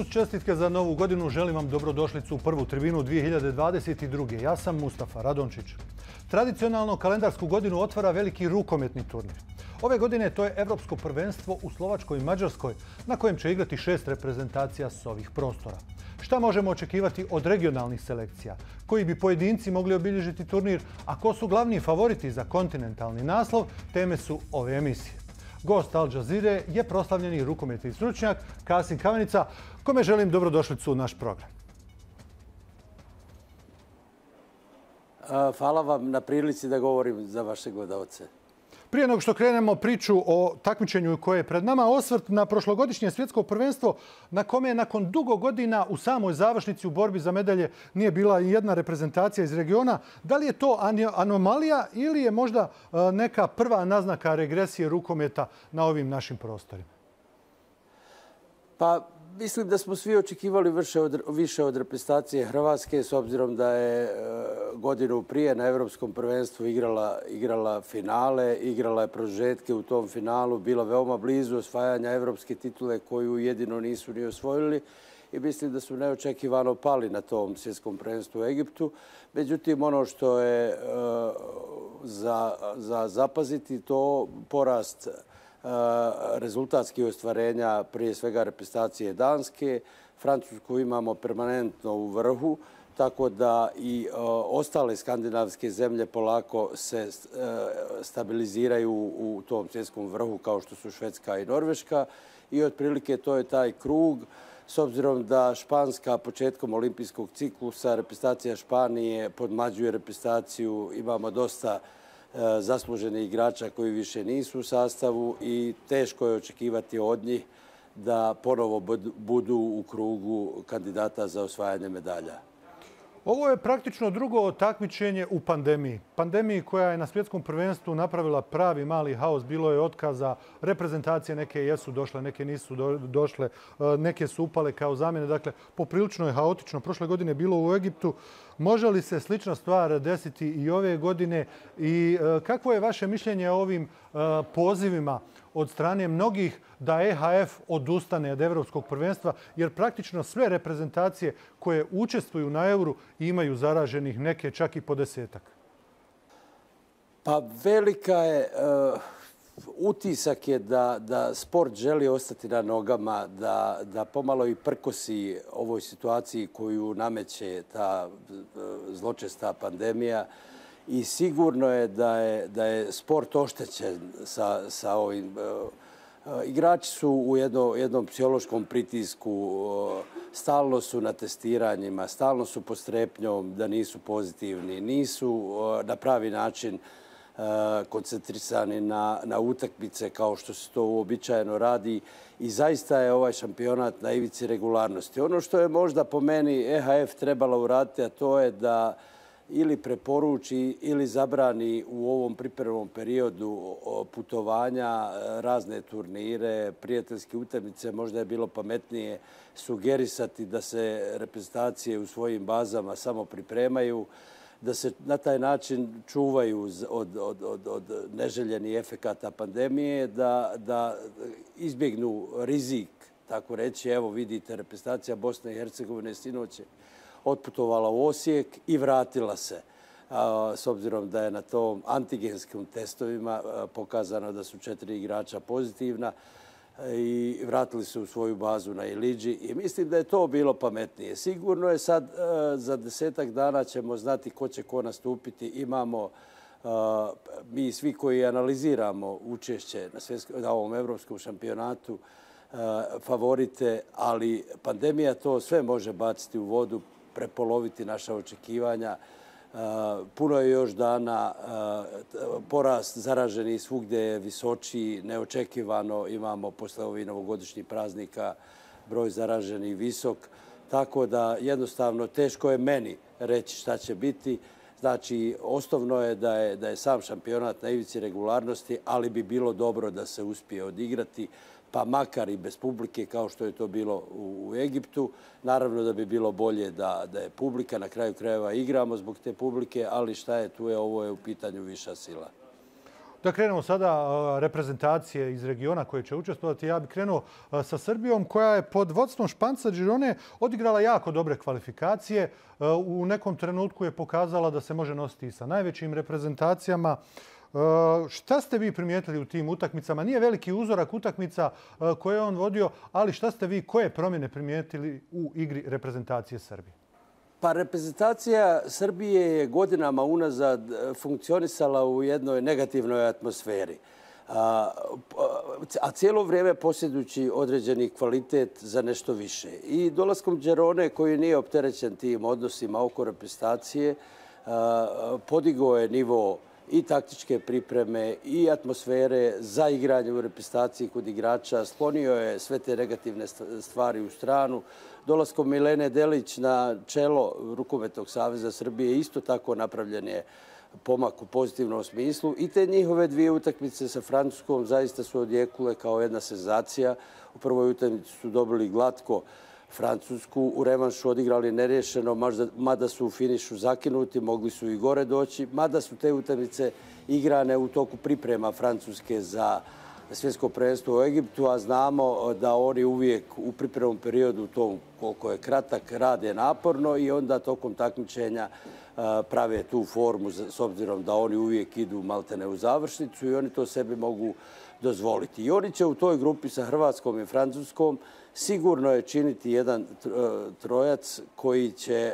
Uz čestitke za novu godinu želim vam dobrodošlicu u prvu tribinu 2022. Ja sam Mustafa Radončić. Tradicionalno kalendarsku godinu otvara veliki rukometni turnir. Ove godine to je Evropsko prvenstvo u Slovačkoj i Mađarskoj, na kojem će igrati 6 reprezentacija s ovih prostora. Šta možemo očekivati od regionalnih selekcija? Koji bi pojedinci mogli obilježiti turnir? A ko su glavni favoriti za kontinentalni naslov? Teme su ove emisije. Gost Al Jazeere je proslavljeni rukometni stručnjak Kasim Kamenica, kome želim dobrodošlicu u naš program. Hvala vam na prilici da govorim za vaše gledalce. Prije nego što krenemo priču o takmičenju koje je pred nama, osvrt na prošlogodišnje svjetsko prvenstvo na kome je nakon dugo godina u samoj završnici u borbi za medalje nije bila jedna reprezentacija iz regiona. Da li je to anomalija ili je možda neka prva naznaka regresije rukometa na ovim našim prostorima? Pa mislim da smo svi očekivali više od reprezentacije Hrvatske, s obzirom da je godinu prije na Europskom prvenstvu igrala finale, igrala je produžetke u tom finalu, bila veoma blizu osvajanja evropske titule koju jedino nisu ni osvojili i mislim da su neočekivano pali na tom svjetskom prvenstvu u Egiptu. Međutim, ono što je za zapaziti to porast rezultatskih ostvarenja, prije svega reprezentacije Danske. Francusku imamo permanentno u vrhu, tako da i ostale skandinavske zemlje polako se stabiliziraju u tom svjetskom vrhu kao što su Švedska i Norveška i otprilike to je taj krug. S obzirom da Španska početkom olimpijskog ciklusa, reprezentacija Španije podmlađuje reprezentaciju, imamo dosta zasluženih igrača koji više nisu u sastavu i teško je očekivati od njih da ponovo budu u krugu kandidata za osvajanje medalja. Ovo je praktično drugo takmičenje u pandemiji. Pandemiji koja je na svjetskom prvenstvu napravila pravi mali haos. Bilo je otkaza, reprezentacije neke jesu došle, neke nisu došle, neke su upale kao zamjene. Dakle, poprilično je haotično. Prošle godine je bilo u Egiptu. Može li se slična stvar desiti i ove godine? I kakvo je vaše mišljenje o ovim pozivima od strane mnogih da EHF odustane od Evropskog prvenstva, jer praktično sve reprezentacije koje učestvuju na Euru imaju zaraženih, neke čak i po 10-ak? Pa velika je, utisak je da sport želi ostati na nogama, da pomalo i prkosi ovoj situaciji koju nameće ta zločesta pandemija. I sigurno je da je sport oštećen sa ovim. Igrači su u jednom psihološkom pritisku, stalno su na testiranjima, stalno su pod strepnjom da nisu pozitivni, nisu na pravi način koncentrisani na utakmice kao što se to uobičajeno radi i zaista je ovaj šampionat na ivici regularnosti. Ono što je možda po meni EHF trebala uraditi, a to je da ili preporuči ili zabrani u ovom pripremnom periodu putovanja, razne turnire, prijateljske utakmice. Možda je bilo pametnije sugerisati da se reprezentacije u svojim bazama samo pripremaju, da se na taj način čuvaju od neželjenih efekata pandemije, da izbjegnu rizik, tako reći. Evo vidite, reprezentacija Bosne i Hercegovine sinoć je otputovala u Osijek i vratila se. S obzirom da je na tom antigenskim testovima pokazano da su 4 igrača pozitivna i vratili se u svoju bazu na Ilidži i mislim da je to bilo pametnije. Sigurno je sad za 10-ak dana ćemo znati ko će ko nastupiti. Imamo mi svi koji analiziramo učešće na ovom evropskom šampionatu favorite, ali pandemija to sve može baciti u vodu, prepoloviti naša očekivanja. Puno je još dana, porast zaraženih svugdje je visočiji, neočekivano imamo posle ovih novogodišnjih praznika broj zaraženih visok, tako da jednostavno teško je meni reći šta će biti. Znači, osnovno je da je sam šampionat na ivici regularnosti, ali bi bilo dobro da se uspije odigrati, pa makar i bez publike kao što je to bilo u Egiptu. Naravno da bi bilo bolje da je publika, na kraju krajeva igramo zbog te publike, ali šta je tu, ovo je u pitanju viša sila. Da krenemo sada reprezentacije iz regiona koje će učestvovati. Ja bih krenuo sa Srbijom koja je pod vodstvom Španca Girone odigrala jako dobre kvalifikacije. U nekom trenutku je pokazala da se može nositi i sa najvećim reprezentacijama. Šta ste vi primijetili u tim utakmicama? Nije veliki uzorak utakmica koje je on vodio, ali šta ste vi, koje promjene primijetili u igri reprezentacije Srbije? Pa reprezentacija Srbije je godinama unazad funkcionisala u jednoj negativnoj atmosferi. A cijelo vrijeme posjedujući određeni kvalitet za nešto više. I dolaskom Girone, koji nije opterećen tim odnosima oko reprezentacije, podigao je nivo i taktičke pripreme i atmosfere za igranje u reprezentaciji kod igrača. Sklonio je sve te negativne stvari u stranu. Dolaskom Milene Delić na čelo Rukometnog saveza Srbije isto tako napravljen je pomak u pozitivnom smislu. I te njihove dvije utakmice sa Francuskom zaista su odjekule kao jedna senzacija. U prvoj utakmici su dobili glatko Francusku, u revanšu odigrali nerješeno, mada su u finišu zakinuti, mogli su i gore doći, mada su te utakmice igrane u toku priprema Francuske za svjetsko prvenstvo u Egiptu, a znamo da oni uvijek u pripremnom periodu, to koliko je kratak, rade naporno i onda tokom takmičenja prave tu formu s obzirom da oni uvijek idu maltene u završnicu i oni to sebi mogu dozvoliti. I oni će u toj grupi sa Hrvatskom i Francuskom sigurno je činiti jedan trojac koji će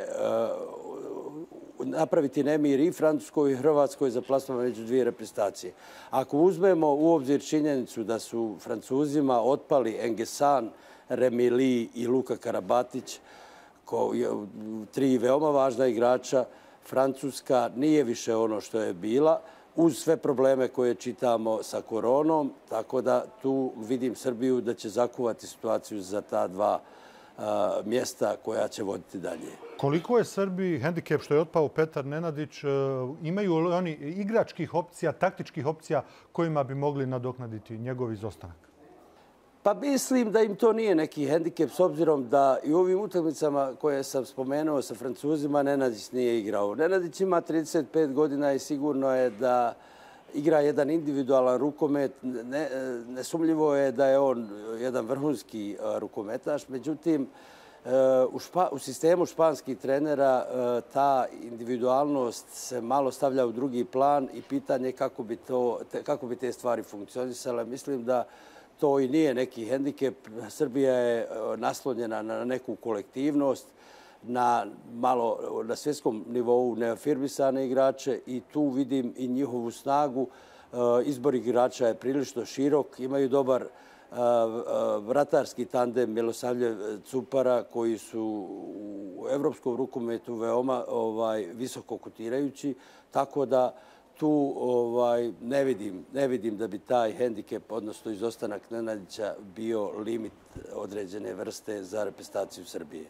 napraviti nemir i Francuskoj i Hrvatskoj za plasman među dvije reprezentacije. Ako uzmemo u obzir činjenicu da su Francuzima otpali Engesan, Remili i Luka Karabatić, tri veoma važna igrača, Francuska nije više ono što je bila, uz sve probleme koje čitamo sa koronom, tako da tu vidim Srbiju da će zakuvati situaciju za ta dva mjesta koja će voditi dalje. Koliko je Srbiji hendikep što je otpao Petar Nenadić? Imaju li oni igračkih opcija, taktičkih opcija kojima bi mogli nadoknaditi njegov izostanak? Pa mislim da im to nije neki hendikep s obzirom da i u ovim utakmicama koje sam spomenuo sa Francuzima Nenadić nije igrao. Nenadić ima 35 godina i sigurno je da igra jedan individualan rukomet. Nesumljivo je da je on jedan vrhunski rukometaš. Međutim, u sistemu španskih trenera ta individualnost se malo stavlja u drugi plan i pitanje kako bi te stvari funkcionisale. Mislim da to i nije neki hendikep. Srbija je naslonjena na neku kolektivnost, na svjetskom nivou neafirmisane igrače i tu vidim i njihovu snagu. Izbor igrača je prilično širok. Imaju dobar vratarski tandem Milosavljev-Cupara koji su u evropskom rukometu veoma visoko kotirajući. Tako da tu ne vidim da bi taj hendikep, odnosno izostanak Nenadića, bio limit određene vrste za reprezentaciju Srbije.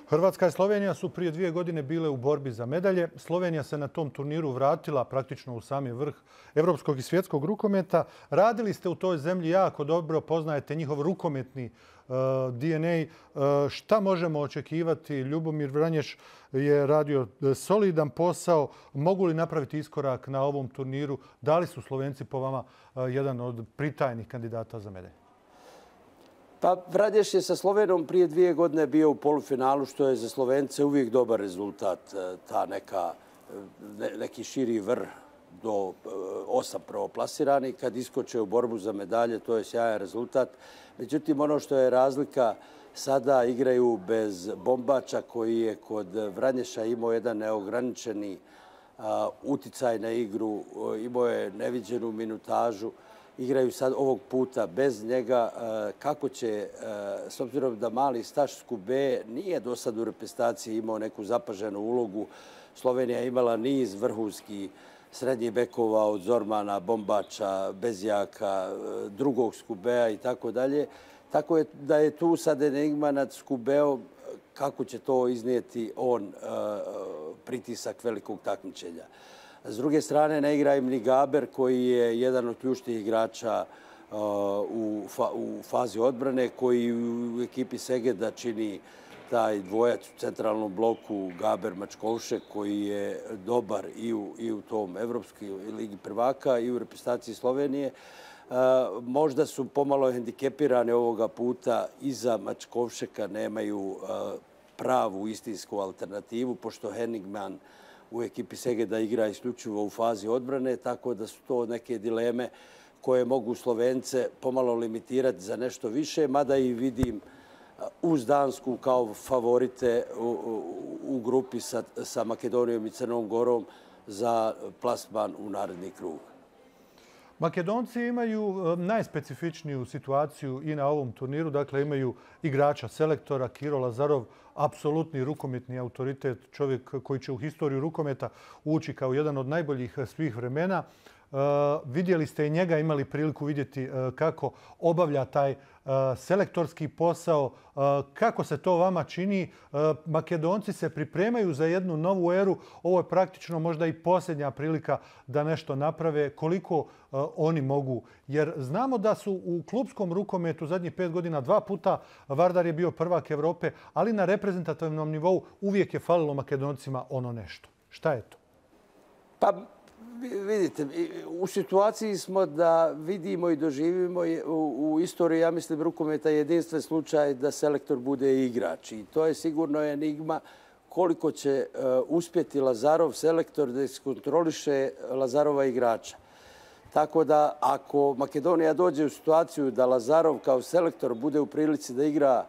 Hrvatska i Slovenija su prije 2 godine bile u borbi za medalje. Slovenija se na tom turniru vratila praktično u sami vrh evropskog i svjetskog rukometa. Radili ste u toj zemlji jako dobro, poznajete njihov rukometni DNA. Šta možemo očekivati? Ljubomir Vranješ je radio solidan posao. Mogu li napraviti iskorak na ovom turniru? Da li su Slovenci po vama jedan od pritajnih kandidata za medalje? Pa Vranješ je sa Slovenijom prije 2 godine bio u polufinalu, što je za Slovence uvijek dobar rezultat. Neki širi vrh do 8 prvoplasirani. Kad iskoče u borbu za medalje, to je sjajan rezultat. Međutim, ono što je razlika, sada igraju bez Bombača koji je kod Vranješa imao jedan neograničeni uticaj na igru, imao je neviđenu minutažu. Igraju sad ovog puta bez njega. Kako će, s obzirom da mali Staš Skube nije do sad u reprezentaciji imao neku zapaženu ulogu, Slovenija je imala niz vrhunskih srednjih bekova od Zormana, Bombača, Bezjaka, drugog Skubea i tako dalje. Tako je da je tu sad enigma nad Skubeom kako će to iznijeti on pritisak velikog takmičenja. S druge strane, ne igra im ni Gaber, koji je jedan od ključnih igrača u fazi odbrane, koji u ekipi Segeda čini taj dvojac u centralnom bloku Gaber-Mačkovšek koji je dobar i u tom Evropskoj ligi prvaka i u reprezentaciji Slovenije. Možda su pomalo hendikepirani ovoga puta. Iza Mačkovšeka nemaju pravu istinsku alternativu, pošto Henningman u ekipi Segeda igra isključivo u fazi odbrane, tako da su to neke dileme koje mogu Slovence pomalo limitirati za nešto više, mada i vidim uz Dansku kao favorite u grupi sa Makedonijom i Crnom Gorom za plasman u naredni krug. Makedonci imaju najspecifičniju situaciju i na ovom turniru. Dakle, imaju igrača, selektora Kiro Lazarov, apsolutni rukometni autoritet, čovjek koji će u historiju rukometa ući kao jedan od najboljih svih vremena. Vidjeli ste i njega, imali priliku vidjeti kako obavlja taj selektorski posao. Kako se to vama čini? Makedonci se pripremaju za jednu novu eru. Ovo je praktično možda i posljednja prilika da nešto naprave. Koliko oni mogu? Jer znamo da su u klupskom rukometu zadnjih 5 godina 2 puta Vardar je bio prvak Evrope, ali na reprezentativnom nivou uvijek je falilo Makedoncima ono nešto. Šta je to? Pa vidite, u situaciji smo da vidimo i doživimo u istoriji, ja mislim, rukometa jedinstven slučaj da selektor bude igrač. I to je sigurno enigma koliko će uspjeti Lazarov selektor da iskontroliše Lazarova igrača. Tako da ako Makedonija dođe u situaciju da Lazarov kao selektor bude u prilici da igra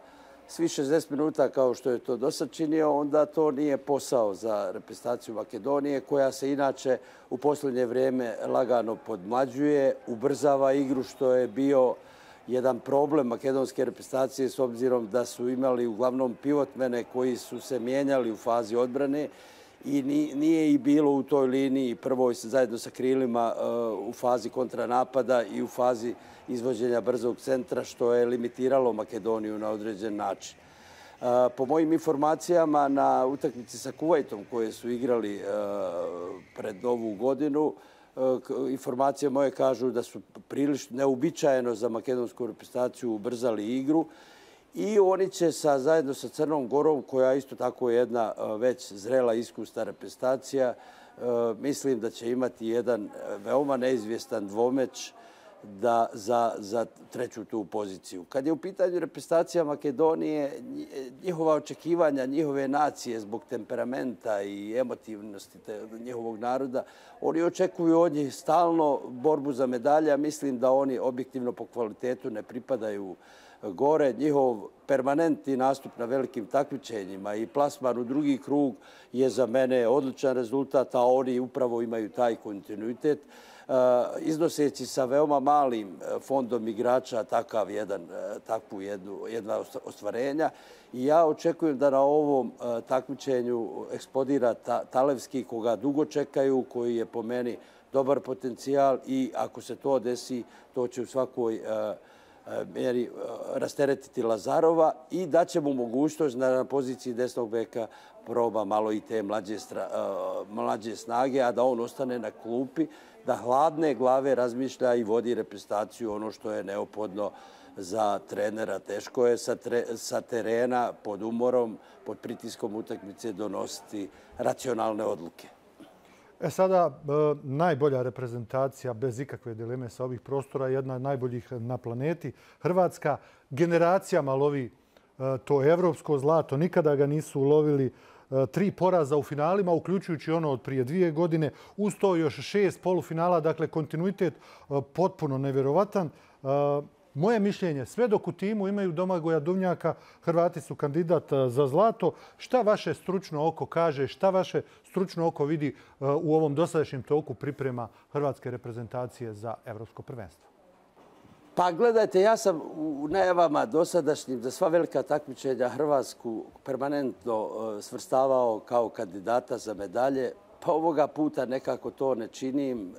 svi 60 minuta kao što je to dosad činio, onda to nije posao za reprezentaciju Makedonije, koja se inače u posljednje vrijeme lagano podmlađuje, ubrzava igru, što je bio jedan problem makedonske reprezentacije s obzirom da su imali uglavnom pivotmene koji su se mijenjali u fazi odbrane i nije i bilo u toj liniji prvoj zajedno sa krilima u fazi kontranapada i u fazi izvođenja brzog centra, što je limitiralo Makedoniju na određen način. Po mojim informacijama na utakmici sa Kuvajtom koje su igrali pred Novu godinu, informacije moje kažu da su prilično neuobičajeno za makedonsku reprezentaciju ubrzali igru i oni će zajedno sa Crnom Gorom, koja isto tako je jedna već zrela iskusna reprezentacija, mislim da će imati jedan veoma neizvjestan dvomeč za treću tu poziciju. Kad je u pitanju reprezentacija Makedonije, njihova očekivanja, njihove nacije zbog temperamenta i emotivnosti njihovog naroda, oni očekuju od njih stalno borbu za medalje, a mislim da oni objektivno po kvalitetu ne pripadaju gore. Njihov permanentni nastup na velikim takmičenjima i plasman u drugi krug je za mene odličan rezultat, a oni upravo imaju taj kontinuitet, iznoseći sa veoma malim fondom igrača takvu jedna ostvarenja. I ja očekujem da na ovom takmičenju eksplodira Talevski, koga dugo čekaju, koji je po meni dobar potencijal i ako se to desi, to će u svakoj mjeri rasteretiti Lazarova i da će mu mogućnost da na poziciji desnog beka proba malo i te mlađe snage, a da on ostane na klupi, da hladne glave razmišlja i vodi reprezentaciju, ono što je neophodno za trenera. Teško je sa terena, pod umorom, pod pritiskom utakmice donositi racionalne odluke. Sada najbolja reprezentacija bez ikakve dileme sa ovih prostora, jedna od najboljih na planeti. Hrvatska generacijama lovi to evropsko zlato. Nikada ga nisu ulovili. 3 poraza u finalima, uključujući ono od prije 2 godine. Uz to još 6 polufinala. Dakle, kontinuitet potpuno nevjerovatan. Moje mišljenje, sve dok u timu imaju Domagoja Duvnjaka, Hrvati su kandidat za zlato. Šta vaše stručno oko kaže, šta vaše stručno oko vidi u ovom dosadašnjem toku priprema hrvatske reprezentacije za evropsko prvenstvo? Pa gledajte, ja sam u najavama dosadašnjim za sva velika takmičenja Hrvatsku permanentno svrstavao kao kandidata za medalje. Pa ovoga puta nekako to ne činim.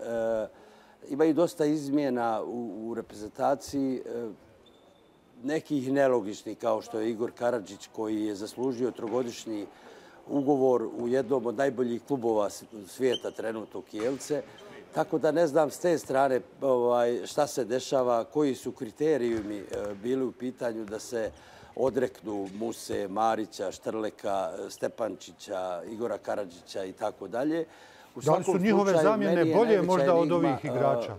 Imaju dosta izmjena u reprezentaciji, nekih nelogičnih, kao što je Igor Karadžić, koji je zaslužio 3-godišnji ugovor u jednom od najboljih klubova svijeta, trenutno Kielce. Tako da ne znam s te strane šta se dešava, koji su kriterijumi bili u pitanju da se odreknu Muse, Marića, Štrleka, Stepančića, Igora Karadžića i tako dalje. Da li su njihove zamjene bolje možda od ovih igrača?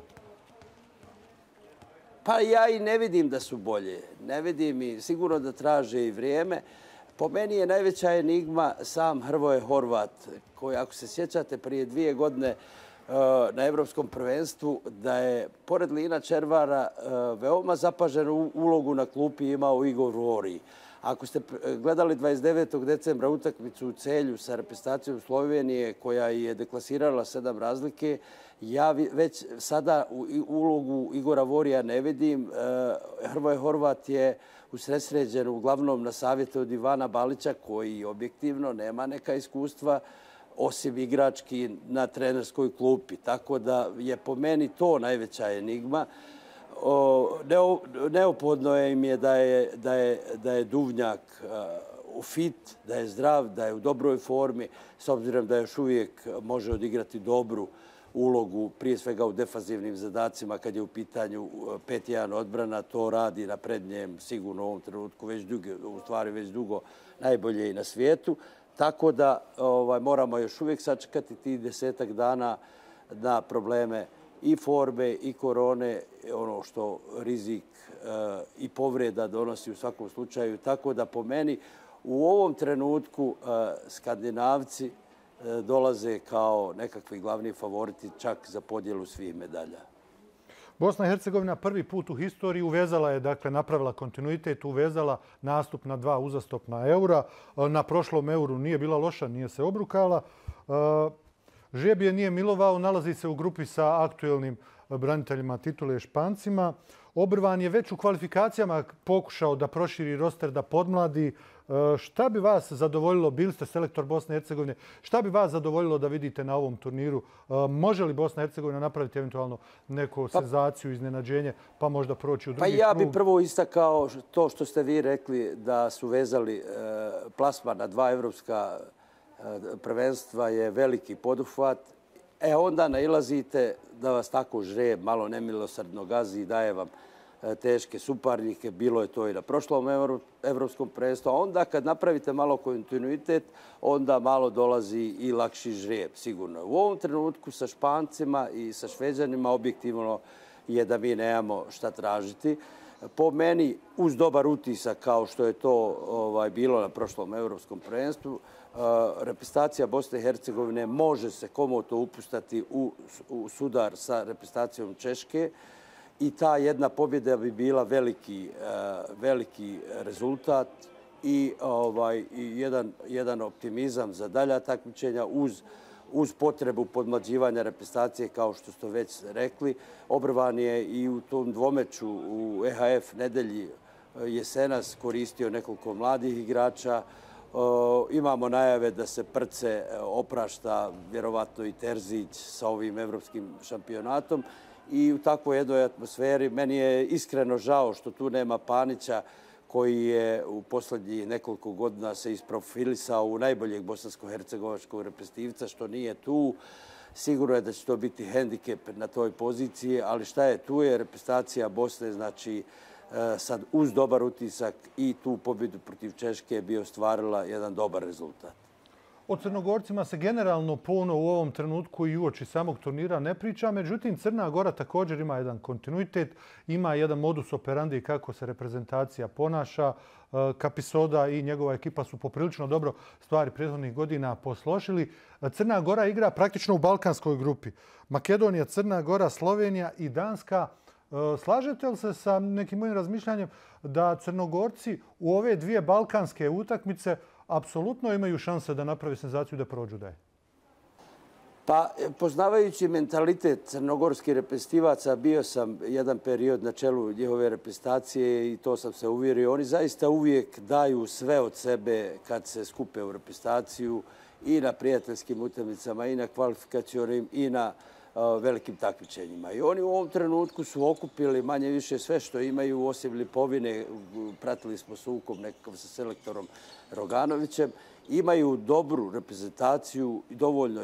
Pa ja i ne vidim da su bolje. Ne vidim i sigurno da traže i vrijeme. Po meni je najveća enigma sam Hrvoje Horvat, koji, ako se sjećate, prije 2 godine na Evropskom prvenstvu, da je, pored Lina Červara, veoma zapaženu ulogu na klupi imao Igor Vori. Ako ste gledali 29. decembra utakmicu u Celju sa reprezentacijom Slovenije, koja je deklasirala 7 razlike, ja već sada ulogu Igora Vorija ne vidim. Hrvoje Horvat je usredsređen uglavnom na savjete od Ivana Balića, koji objektivno nema neka iskustva, osim igrački na trenerskoj klupi. Tako da je po meni to najveća enigma. Neophodno im je da je Duvnjak fit, da je zdrav, da je u dobroj formi, s obzirom da još uvijek može odigrati dobru ulogu, prije svega u defanzivnim zadacima, kad je u pitanju 5-1 odbrana, to radi na prednjem sigurno u ovom trenutku već dugo najbolje i na svijetu. Tako da moramo još uvijek sačekati tih 10-ak dana na probleme i forme i korone, ono što rizik i povreda donosi u svakom slučaju. Tako da po meni u ovom trenutku Skandinavci dolaze kao nekakvi glavni favoriti čak za podjelu svih medalja. Bosna i Hercegovina prvi put u historiji uvezala je, dakle, napravila kontinuitet, uvezala nastup na 2 uzastopna eura. Na prošlom euru nije bila loša, nije se obrukala. Žeb je nije milovao, nalazi se u grupi sa aktuelnim braniteljima titule Špancima. Obrvan je već u kvalifikacijama pokušao da proširi roster, da podmladi. Šta bi vas zadovoljilo, bili ste selektor Bosne i Hercegovine, šta bi vas zadovoljilo da vidite na ovom turniru? Može li Bosna i Hercegovina napraviti eventualno neku senzaciju, iznenađenje, pa možda proći u drugi krug? Pa ja bih prvo istakao to što ste vi rekli, da su vezali plasman na 2 evropska prvenstva je veliki poduhvat. Onda nailazite da vas tako žreb malo nemilosrdno gazi i daje vam teške suparnike. Bilo je to i na prošlom evropskom prvenstvu. A onda kad napravite malo kontinuitet, onda malo dolazi i lakši žreb, sigurno. U ovom trenutku sa Špancima i sa Šveđanima objektivno je da mi nemamo šta tražiti. Po meni, uz dobar utisak kao što je to bilo na prošlom evropskom prvenstvu, reprezentacija Bosne i Hercegovine može se komotno upustati u sudar sa reprezentacijom Češke i ta jedna pobjeda bi bila veliki rezultat i jedan optimizam za dalja takmičenja uz potrebu podmlađivanja reprezentacije, kao što ste već rekli. Obrvan je i u tom dvomeču u EHF nedelji jesenas koristio nekoliko mladih igrača. Imamo najave da se Prce oprašta, vjerovatno i Terzić, sa ovim evropskim šampionatom. I u takvoj jednoj atmosferi meni je iskreno žao što tu nema Panića, koji je u posljednjih nekoliko godina se isprofilisao u najboljeg bosansko-hercegovačkog reprezentativca, što nije tu. Sigurno je da će to biti hendikep na toj poziciji, ali šta je tu je reprezentacija Bosne, znači sad uz dobar utisak i tu pobjedu protiv Češke bi ostvarila jedan dobar rezultat. O Crnogorcima se generalno puno u ovom trenutku i uoči samog turnira ne priča. Međutim, Crna Gora također ima jedan kontinuitet, ima jedan modus operandi kako se reprezentacija ponaša. Kapisoda i njegova ekipa su poprilično dobro stvari prethodnih godina posložili. Crna Gora igra praktično u balkanskoj grupi. Makedonija, Crna Gora, Slovenija i Danska. Slažete li se sa nekim mojim razmišljanjem da Crnogorci u ove 2 balkanske utakmice apsolutno imaju šanse da napravi senzaciju da prođu dalje? Pa, poznavajući mentalitet crnogorskih reprezentativaca, bio sam jedan period na čelu njihove reprezentacije i to sam se uvjerio. Oni zaista uvijek daju sve od sebe kad se skupe u reprezentaciju i na prijateljskim utakmicama i na kvalifikacionim i na velikim takmičenjima. I oni u ovom trenutku su okupili manje više sve što imaju, osim Lipovine. Pratili smo sukob nekakav sa selektorom Roganovićem. Imaju dobru reprezentaciju, dovoljno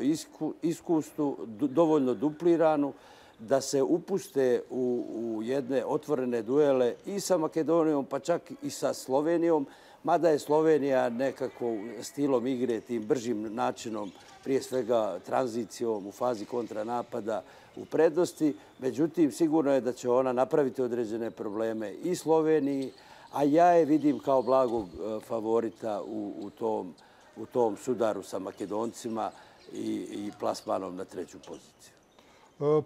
iskusnu, dovoljno dupliranu. da se upuste u jedne otvorene duele i sa Makedonijom, pa čak i sa Slovenijom, mada je Slovenija nekako stilom igre, tim bržim načinom, prije svega tranzicijom u fazi kontranapada u prednosti. Međutim, sigurno je da će ona napraviti određene probleme i Sloveniji, a ja je vidim kao blagog favorita u tom sudaru sa Makedoncima i plasmanom na treću poziciju.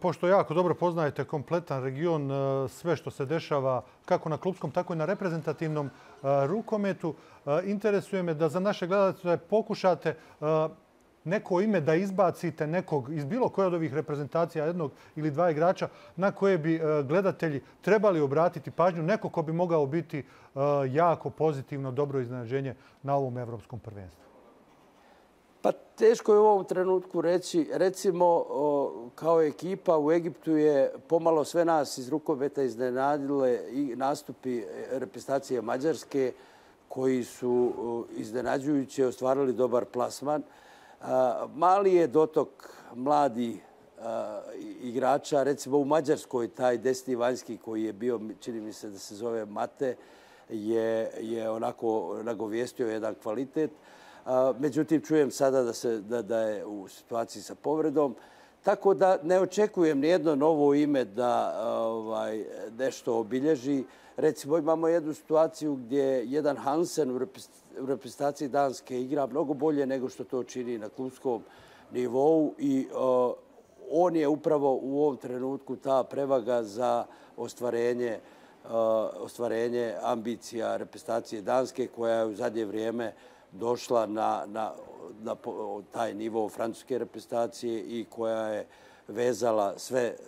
Pošto jako dobro poznajete kompletan region, sve što se dešava kako na klupskom, tako i na reprezentativnom rukometu, interesuje me da za naše gledatelje pokušate neko ime da izbacite nekog iz bilo koje od ovih reprezentacija, jednog ili dva igrača, na koje bi gledatelji trebali obratiti pažnju, neko ko bi mogao biti jako pozitivno, dobro iznenađenje na ovom evropskom prvenstvu. Pa teško je u ovom trenutku reći. Recimo, kao ekipa u Egiptu je pomalo sve nas iz rukometa iznenadile i nastupi reprezentacije Mađarske koji su iznenađujuće ostvarili dobar plasman. Mali je dotok mladih igrača. Recimo u Mađarskoj taj desni vanjski koji je bio, čini mi se da se zove Mate, je onako nagovijestio jedan kvalitet. Međutim, čujem sada da je u situaciji sa povredom. Tako da ne očekujem nijedno novo ime da nešto obilježi. Recimo, imamo jednu situaciju gdje jedan Hansen u reprezentaciji Danske igra mnogo bolje nego što to čini na klubskom nivou i on je upravo u ovom trenutku ta prevaga za ostvarenje ambicija reprezentacije Danske koja je u zadnje vrijeme došla na taj nivo francuske reprezentacije i koja je vezala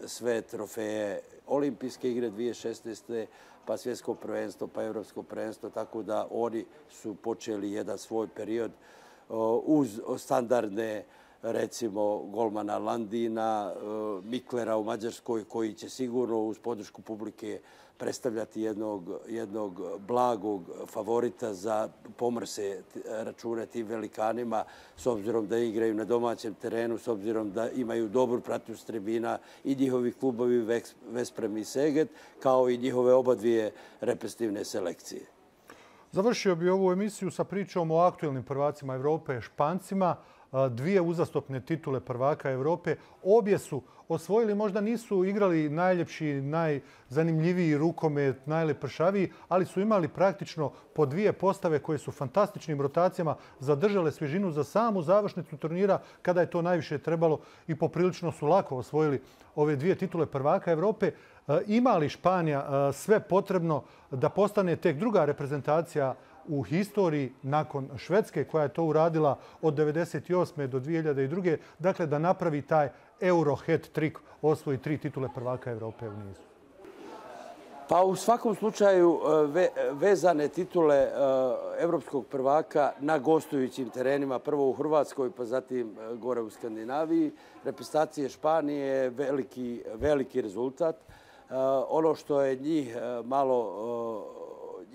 sve trofeje olimpijske igre 2016. pa svjetsko prvenstvo, pa evropsko prvenstvo, tako da oni su počeli jedan svoj period uz standardne, recimo, golmana Landina, Miklera u Mađarskoj, koji će sigurno uz podršku publike predstavljati jednog blagog favorita za pomrse račune tim velikanima, s obzirom da igraju na domaćem terenu, s obzirom da imaju dobru pratnju s tribina i njihovi klubovi Vesprem i Seget, kao i njihove obadvije reprezentativne selekcije. Završio bi ovu emisiju sa pričom o aktuelnim prvacima Evrope, Špancima. Dvije uzastopne titule prvaka Evrope. Obje su osvojili, možda nisu igrali najljepši, najzanimljiviji rukomet, najlepršaviji, ali su imali praktično po dvije postave koje su fantastičnim rotacijama zadržale svježinu za samu završnicu turnira kada je to najviše trebalo i poprilično su lako osvojili ove dvije titule prvaka Evrope. Ima li Španija sve potrebno da postane tek druga reprezentacija u historiji nakon Švedske koja je to uradila od 1998. do 2002. Dakle, da napravi taj Euro hat-trick, osvoji 3 titule prvaka Evrope u nizu? Pa u svakom slučaju vezane titule evropskog prvaka na gostujućim terenima, prvo u Hrvatskoj pa zatim gore u Skandinaviji, reprezentacije Španije je veliki rezultat. Ono što je njih malo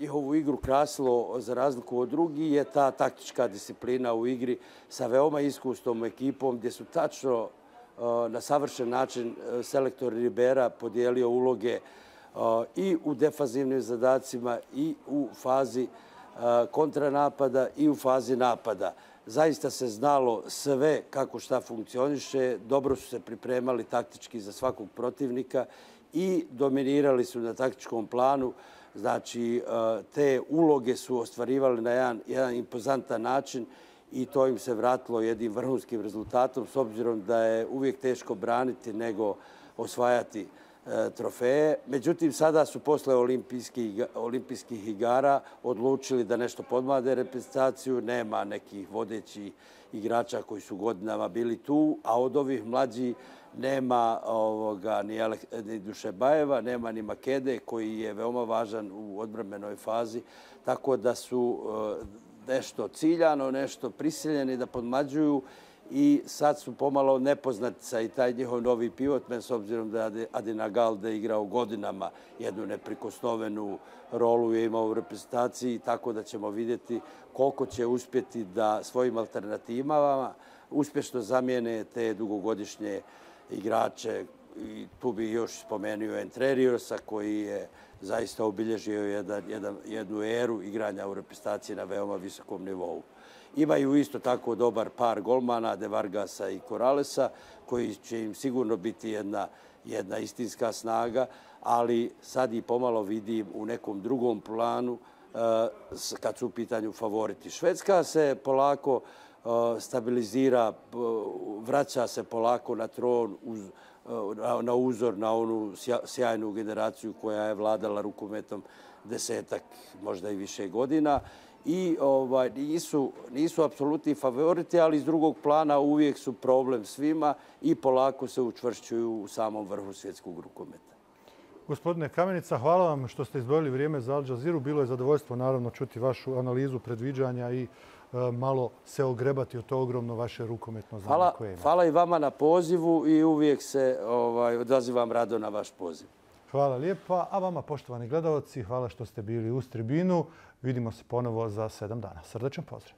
njihovu igru krasilo za razliku od drugih je ta taktička disciplina u igri sa veoma iskusnom ekipom gdje su tačno na savršen način selektor Ribera podijelio uloge i u defanzivnim zadacima i u fazi kontranapada i u fazi napada. Zaista se znalo sve kako šta funkcioniše, dobro su se pripremali taktički za svakog protivnika i dominirali su na taktičkom planu. Znači, te uloge su ostvarivali na jedan impozantan način i to im se vratilo jednim vrhunskim rezultatom s obzirom da je uvijek teško braniti nego osvajati trofeje. Međutim, sada su posle olimpijskih igara odlučili da nešto podmlade reprezentaciju. Nema nekih vodećih igrača koji su godinama bili tu, a od ovih mlađih nema ni Dušebajeva, nema ni Makede koji je veoma važan u odbrambenoj fazi. Tako da su nešto ciljano, nešto prisiljeni da podmlađuju i sad su pomalo nepoznatica i taj njihov novi pivotmen s obzirom da je Adina Galde igrao godinama jednu neprikosnovenu rolu je imao u reprezentaciji, tako da ćemo vidjeti koliko će uspjeti da svojim alternativama uspješno zamijene te dugogodišnje igrače i tu bi još spomenuo Entre Riosa koji je zaista obilježio jednu eru igranja u reprezentaciji na veoma visokom nivou. Imaju isto tako dobar par golmana, De Vargasa i Corralesa, koji će im sigurno biti jedna istinska snaga, ali sad i pomalo vidim u nekom drugom planu kad su u pitanju favoriti. Švedska se polako stabilizira, vraća se polako na tron na uzor na onu sjajnu generaciju koja je vladala rukometom 10-ak, možda i više godina. I nisu apsolutni favoriti, ali iz drugog plana uvijek su problem svima i polako se učvršćuju u samom vrhu svjetskog rukometa. Gospodine Kamenica, hvala vam što ste izdvojili vrijeme za Al Jazeeru. Bilo je zadovoljstvo naravno čuti vašu analizu, predviđanja i malo se ogrebati o to ogromno vaše rukometno znanje koje ima. Hvala i vama na pozivu i uvijek se odazivam rado na vaš poziv. Hvala lijepa. A vama, poštovani gledalci, hvala što ste bili uz tribinu. Vidimo se ponovo za 7 dana. Srdačan pozdrav.